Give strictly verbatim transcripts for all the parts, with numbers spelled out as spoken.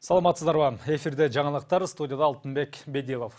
Саламатсыздарбы? Эфирде жаңалыктар, студияда Алтынбек Бедилов.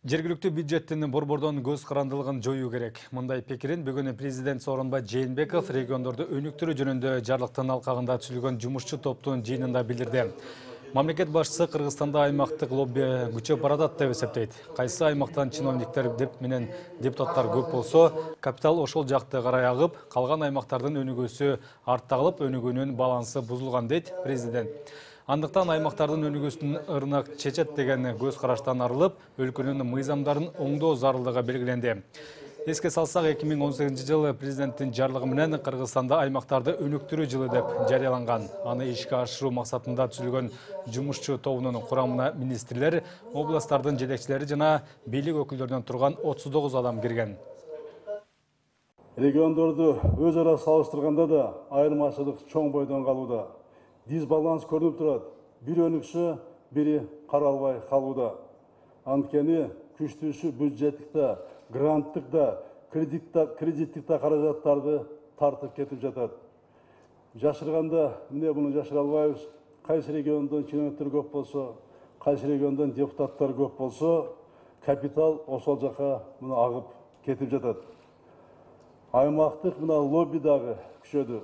Жергиликтүү бюджеттин борбордон көз карандылыгын жоюу керек. Мындай пикирин бүгүн президент Сооронбай Жээнбеков региондорду өнүктүрүү жөнүндө жарлыктын алкагында түзүлгөн жумушчу топтун жыйынында билдирди. Мамлекет башчысы Кыргызстанда аймактык лобби күчөп баратат деп эсептейт. Кайсы аймактан чиновниктер деп менен депутаттар көп болсо, капитал ошол жакты карай агып, калган аймактардын өнүгүүсү артта калып, өнүгүүнүн балансы бузулган дейт президент. Андыктан аймактардын өнүгүүсүн ырнак чечет деген көз караштан арылып, өлкөнүн мыйзамдарын оңдоо зарылдыгы белгиленди. Эске салсак, эки миң он сегизинчи жылы президенттин жарлыгы менен Кыргызстанда аймактарды өнүктүрүү жылы деп жарыяланган. Аны ишке ашыруу максатында түзүлгөн жумушчу тобунун курамына министрлер, областтардын жетекчилери жана бийлик өкүлдөрүнөн турган отуз тогуз адам кирген. Региондорду өз ара салыштырганда да айырмачылык чоң бойдон калууда. Дисбаланс көрүнүп турат. Бири өнүксө, бири каралбай калууда. Анткени күчтүүсү бюджеттик да, гранттык да, кредиттик да каражаттарды тартып кетип жатат. Жашырганда эмне муну жашыра албайбыз. Кайсы региондон чиновниктер көп болсо, кайсы региондон депутаттар көп болсо, капитал ошол жака муну агып кетип жатат. Аймактык мына лобби дагы күчөдү.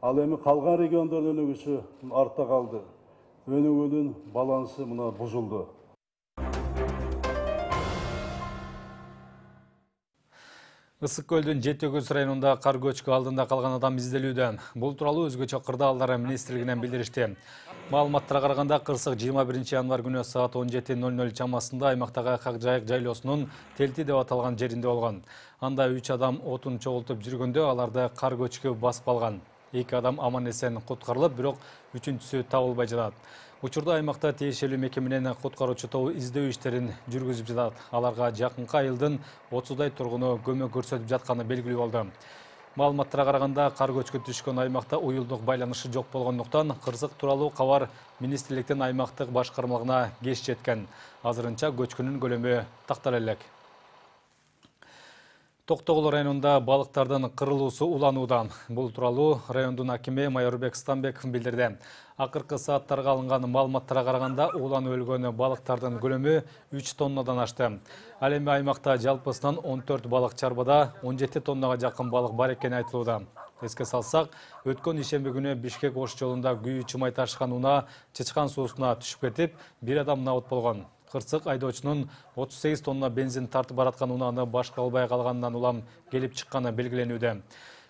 Ал эми калган региондордун өнүгүүсү артта калды. Өнүгүүнүн балансы мына бузулду. Ысык көлдүн жети өгүз районунда кар көчкү алдында калган адам изделүүдө. Бул тууралуу өзгөчө кырдаалдар министрлигинен билдиришти. Маалыматтарга караганда кырсык жыйырма биринчи январь күнү саат он жети ноль ноль чамасында аймактагы Акжайык жайлоосунун Телти деп аталган жеринде болгон. Анда үч адам отун чогултуп жүргөндө аларды кар көчкү басып алган. Эки адам аман-эсен куткарылып, бирок үчүнчүсү табылбай жатат. Учурда аймакта тиешелүү мекеме менен куткаруучу тобу издөө иштерин жүргүзүп жатат. Аларга жакынкы айылдын отуздай тургуну көмөк көрсөтүп жатканы белгилүү болду. Маалыматтарга караганда, кар көчкү түшкөн аймакта уюлдук байланышы жок болгондуктан кырсык тууралуу кабар министрликтин аймактык башкармалыгына кеч жеткен. Азырынча көчкүнүн көлөмү тактала элек. Токтогул районунда балыктардын кырылуусу уланууда. Бул тууралуу райондун акими Майорбек Станбеков билдирди. Акыркы сааттарга алынган маалыматтарга караганда, уланып өлгөн балыктардын көлөмү үч тоннадан ашты. Ал эми аймакта жалпысынан он төрт балык чарбада он жети тоннага жакын балык бар экени айтылууда. Эске салсак, өткөн ишемби күнү Бишкек Ош жолунда күйүү чымай ташыган унаа Чычкан суусуна түшүп кетип, бир адам набыт болгон. Кырсык айдоочунун отуз сегиз тонна бензин тартып бараткан унааны башкара албай калганынан улам келип чыкканы белгиленүүдө.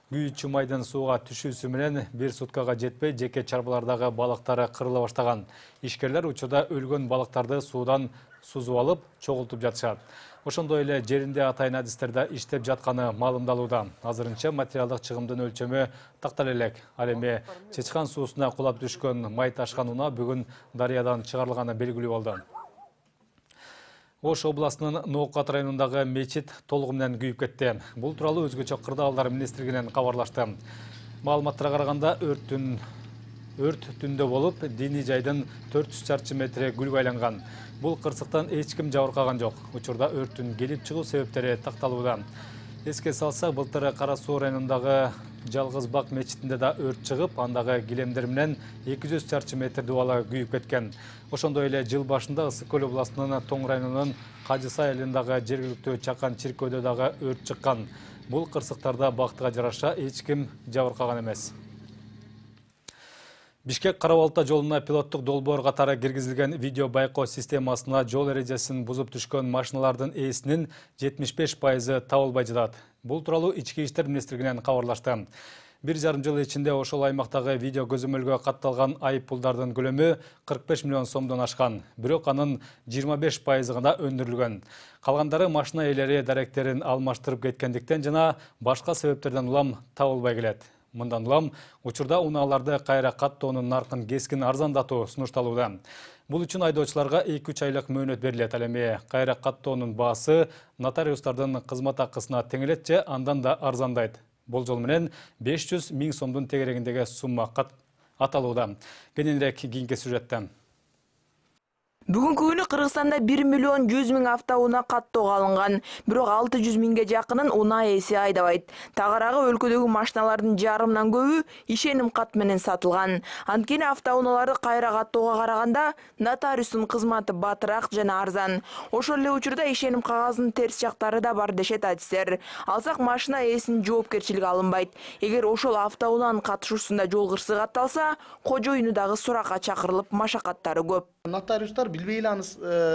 Күйүү чымайдын сууга түшүүсү менен бир суткага жетпей, жеке чарбалардагы балыктары кырыла баштаган. Ишкерлер учурда өлгөн балыктарды суудан сузуп алып, чогултуп жатышат. Ошондой эле жеринде атайын адистерде иштеп жатканы маалымдалууда. Азырынча материалдык чыгымдын өлчөмү тактала элек. Ал эми Чычкан суусуна кулап түшкөн май ташкан унаа бүгүн дарыядан чыгарылганы белгилүү болду. Ош областынын Ноокат районундагы мечит толугу менен күйүп кетти. Бул тууралуу өзгөчө кырдаалдар министрлигинен кабарлашты. Маалыматтарга караганда, өрттүн өрт түндө болуп, диний жайдын төрт жүз чарчы метри күлгө айланган. Бул кырсыктан эч ким жабыркаган жок. Учурда өрттүн келип чыгуу себептери такталууда. Эске салсак, былтыр Кара Суу районундагы Жалгыз Бак мечитинде да өрт чыгып, андагы килемдер менен эки жүз чарчы метр дубалы күйүп кеткен. Ошондой эле жыл башында Ысык көл областынын Тоң районунун Кажысай айылындагы жергиликтүү Чакан чиркөөдө дагы өрт чыккан. Бул кырсыктарда бактыга жараша эч ким жабыркаган эмес. Бишкек Кара-Балта жолуна пилоттук долбоор катары киргизилген видео байкоо системасына жол эрежесин бузуп түшкөн машиналардын ээсинин жетимиш беш пайызы табылбай жатат. Бул тууралуу Ички иштер министрлигинен кабарлашты. Бир жарым жыл ичинде ошол аймактагы видео көзөмөлгө катталган айып пулдардын көлөмү кырк беш миллион сомдон ашкан. Бирок анын жыйырма беш пайызы гана өндүрүлгөн. Калгандары машина ээлери даректерин алмаштырып кеткендиктен жана башка себептерден улам табылбай келет. Мындан улам учурда унааларды кайра каттоонун наркын кескин арзандатуу сунушталууда. Бул үчүн айдоочуларга эки үч айлык мөөнөт берилет. Ал эми кайра каттоонун баасы нотариустардын кызмат акысына тең элет же андан да арзандайт. Болжол менен беш жүз миң сомдун тегерегиндеги сумма аталууда. Кененирээк кийинки сюжетте. Бүгүнкү күнү Кыргызстанда бир миллион жүз миң автоунаа каттоого алынган, бирок алты жүз миңге жакынын унаа ээси айдабайт. Тагыраагы өлкөдөгү машиналардын жарымынан көбү ишеним кат менен сатылган. Анткени автоунааларды кайра каттоого караганда нотариустун кызматы батыраак жана арзан. Ошол эле учурда ишеним кагазынын терс жактары да бар дешет адистер. Алсак машина ээсинин жоопкерчилиги алынбайт. Эгер ошол автоунаанын катышуусунда жол кырсыгы катталса, кожоюну дагы суракка чакырылып, машакаттары көп. Нотариустар билбей эле аны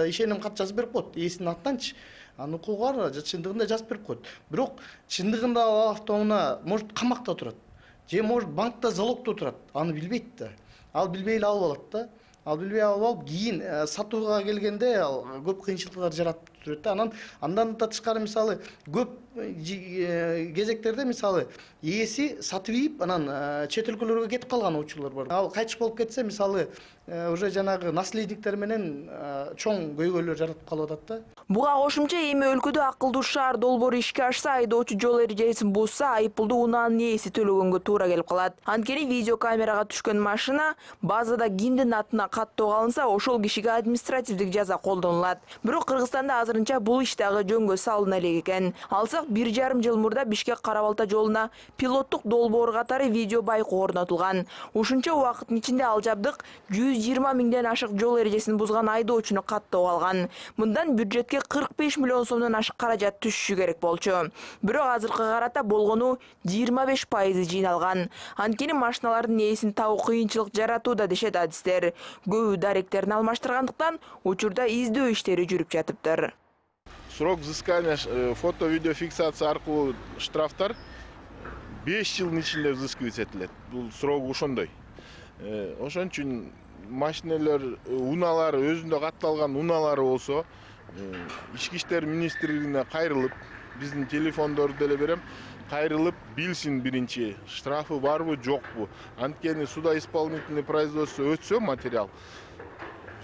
ишеним кат жазып берип коет. Ээсинин атынанчы. Анын укугу бар, чындыгында жазып берип коет. Бирок чындыгында ал автоунаа может камакта турат. Же может банкта залогдо турат. Аны билбейт да. Ал билбей эле алып алат да. Ал билбей алып алып, кийин сатууга келгенде ал көп кыйынчылыктар жаратып турат да. Анан андан да тышкары мисалы көп кезектерде мисалы ээси сатып ийип, анан чет өлкөлөргө кетип калган учурлар бар. Ал кайтыш болуп кетсе, мисалы уже жанагы наследниктер менен чоң көйгөйлөр жаратып калып атат да. Буга кошумча эми өлкөдө акылдуу шаар долбоору ишке ашса, айдоочу жол эрежесин бузса, айыппулду унаанын ээси төлөгөнгө туура келип калат. Анткени видеокамерага түшкөн машина базада кимдин атына каттоого алынса, ошол кишиге административдик жаза колдонулат. Бирок Кыргызстанда азырынча бул иш дагы жөнгө салына элек экен. Алсак бир жарым жыл мурда Бишкек Кара-Балта жолуна пилоттук долбоор катары видео байкоо орнотулган. Ушунча убакыттын ичинде ал жабдык жүз жыйырма миңден ашык жол эрежесин бузган айдоочуну каттоого алган. Мындан бюджетке кырк беш миллион сомдон ашык каражат түшүшү керек болчу. Бирок азыркы карата болгону жыйырма беш пайызы жыйналган. Анткени машиналардын ээсин табуу кыйынчылык жаратууда дешет адистер. Көбү даректерин алмаштыргандыктан учурда издөө иштери жүрүп жатыптыр. Срок взыскания фото-видеофиксация аркылуу штрафтар беш жылдын ичинде взыскивать этилет. Бул срок ошондой. Ошон үчүн машинелер, унаалар өзүндө катталган унаалары болсо, Ички иштер министрлигине кайрылып, биздин телефондорду деле берем, кайрылып билсин биринчи, штрафы барбы, жокпу. Анткени судоисполнительный производство өтсө материал,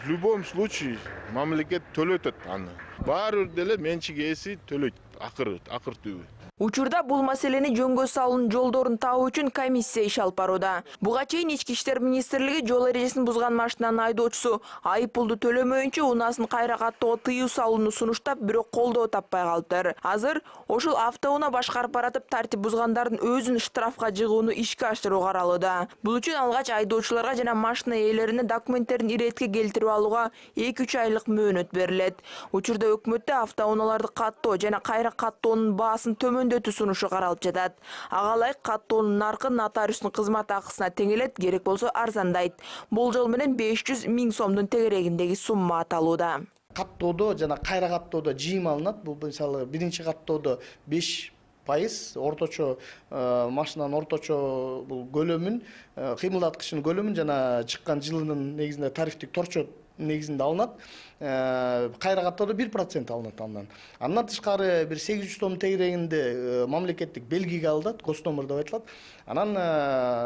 в любом случае мамлекет төлөтөт аны. Баары бир деле менчик ээси төлөйт акыры, акыр түбү. Учурда бул маселени жөнгө салуунун жолдорун табуу үчүн комиссия иш алып барууда. Буга чейин Ички иштер министрлиги жол эрежесин бузган машинанын айдоочусу айыппулду төлөмөйүнчө унаасын кайра каттоого тыюу салууну сунуштап, бирок колдоо таппай калыптыр. Азыр ошол автоунаа башкарып баратып тартип бузгандардын өзүн штрафка жыгууну ишке ашыруу каралууда. Бул үчүн алгач айдоочуларга жана машина ээлерине документтерин иретке келтирип алууга эки үч айлык мөөнөт берилет. Учурда өкмөттө автоунааларды каттоо жана кайра каттоонун баасын төмөн сунушу каралып жатат. Ага ылайык каттоонун наркы нотариустун кызмат акысына тең элет, керек болсо арзандайт. Болжол менен беш жүз миң сомдун тегерегиндеги сумма аталууда. Каттоодо жана кайра каттоодо жыйым алынат. Бул мисалы биринчи каттоодо беш пайыз орточо машинанын орточо бул көлөмүн, кыймылдаткычынын көлөмүн жана чыккан жылынын негизинде тарифтик торчо негизинде алынат. Кайра каттоодо бир процент алынат андан. Андан тышкары бир сегиз жүз сом тегерегинде мамлекеттик белгиге алынат, гостомер деп айтылат. Анан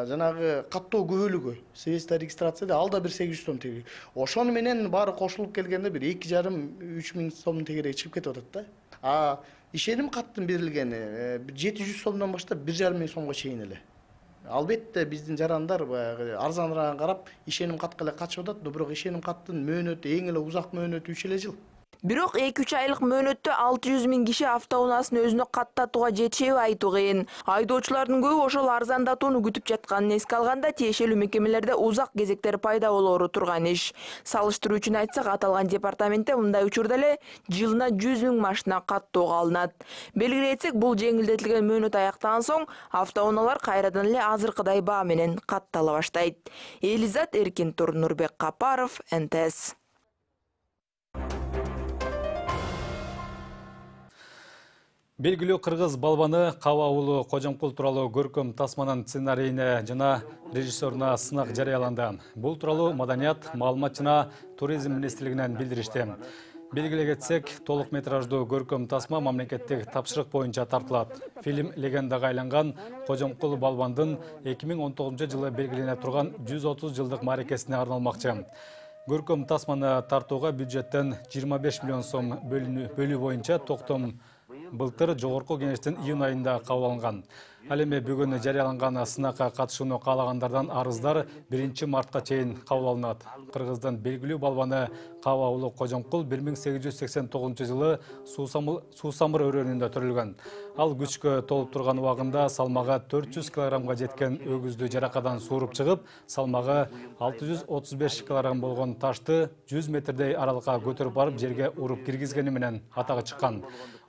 жанагы каттоо күбөлүгү, свидетельство регистрацияда ал да бир сегиз жүз сом тегерек. Ошону менен баары кошулуп келгенде бир эки жарым үч миң сомдун тегереги чыгып кетип атат да. А ишеним каттын берилгени жети жүз сомдон баштап бир жарым миң сомго чейин эле. Албетте биздин жарандар баягы арзаныраак карап ишеним катка эле качып атат, бирок ишеним каттын мөөнөтү эң эле узак мөөнөтү үч эле жыл. Бирок эки үч айлык мөөнөттө алты жүз миң киши автоунаасын өзүнө каттатууга жетишеби айтуу кыйын. Айдоочулардын көбү ошол арзандатууну күтүп жатканын эске алганда тиешелүү мекемелерде узак кезектер пайда болоору турган иш. Салыштыруу үчүн айтсак, аталган департаментте мындай учурда эле жылына жүз миң машина каттоого алынат. Белгилей кетсек, бул жеңилдетилген мөөнөт аяктаган соң автоунаалар кайрадан эле азыркыдай баа менен каттала баштайт. Элизат Эркинтур, Нурбек Капаров, эн тэ эс. Белгилүү кыргыз балбаны Каба уулу Кожомкул тууралуу көркөм тасманын сценарийине жана режиссеруна сынак жарыяланды. Бул тууралуу Маданият, маалымат жана туризм министрлигинен билдиришти. Белгилей кетсек, толук метраждуу көркөм тасма мамлекеттик тапшырык боюнча тартылат. Фильм легендага айланган Кожомкул балбандын эки миң он тогузунчу жылы белгилене турган жүз отуз жылдык мааракесине арналмакчы. Көркөм тасманы тартууга бюджеттен жыйырма беш миллион сом бөлүү боюнча токтом былтыр жогорку кеңештин июнь айында кабыл алынган. Ал эми бүгүн жарыяланган сынакка катышууну каалагандардан арыздар биринчи мартка чейин кабыл алынат. Кыргыздын белгилүү балбаны Каба уулу Кожомкул бир миң сегиз жүз сексен тогузунчу жылы суусамыр өрөөнүндө төрөлгөн. Ал күчкө толуп турган убагында салмагы төрт жүз килограммга жеткен өгүздү жаракадан сууруп чыгып, салмагы алты жүз отуз беш килограмм болгон ташты жүз метрдей аралыкка көтөрүп барып жерге уруп киргизгени менен атагы чыккан.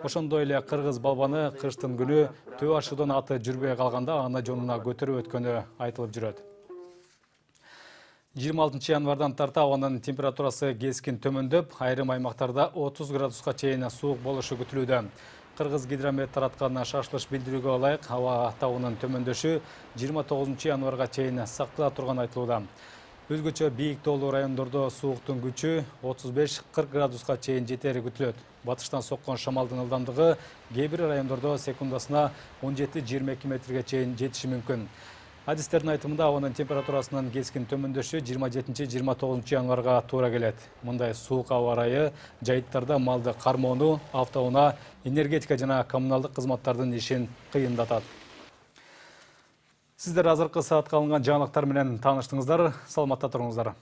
Ошондой эле кыргыз балбаны кыштын күнү төө ашуудан аты жүрбөй калганда аны жонуна көтөрүп өткөнү айтылып жүрөт. жыйырма алтынчы январдан тарта абанын температурасы кескин төмөндөп, айрым аймактарда отуз градуска чейин суук болушу күтүлүүдө. Кыргыз гидромет тараткан шашылыш билдирүүгө ылайык аба табынын төмөндөшү жыйырма тогузунчу январга чейин сактала турганы айтылууда. Өзгөчө бийик тоолуу райондордо сууктун күчү отуз беш кырк градуска чейин жетери күтүлөт. Батыштан соккон шамалдын ылдамдыгы кээ бир райондордо секундасына он жети жыйырма эки метрге чейин жетиши мүмкүн. Адистердин айтымында абанын температурасынын кескин төмөндөшү жыйырма жетинчи жыйырма тогузунчу январга туура келет. Мындай суук аба ырайы жайыттарда малды кармоону, автоунаа, энергетика жана коммуналдык кызматтардын ишин кыйындатат. Сиздер азыркы саатка алынган жаңылыктар менен тааныштыңыздар. Саламатта туруңуздар.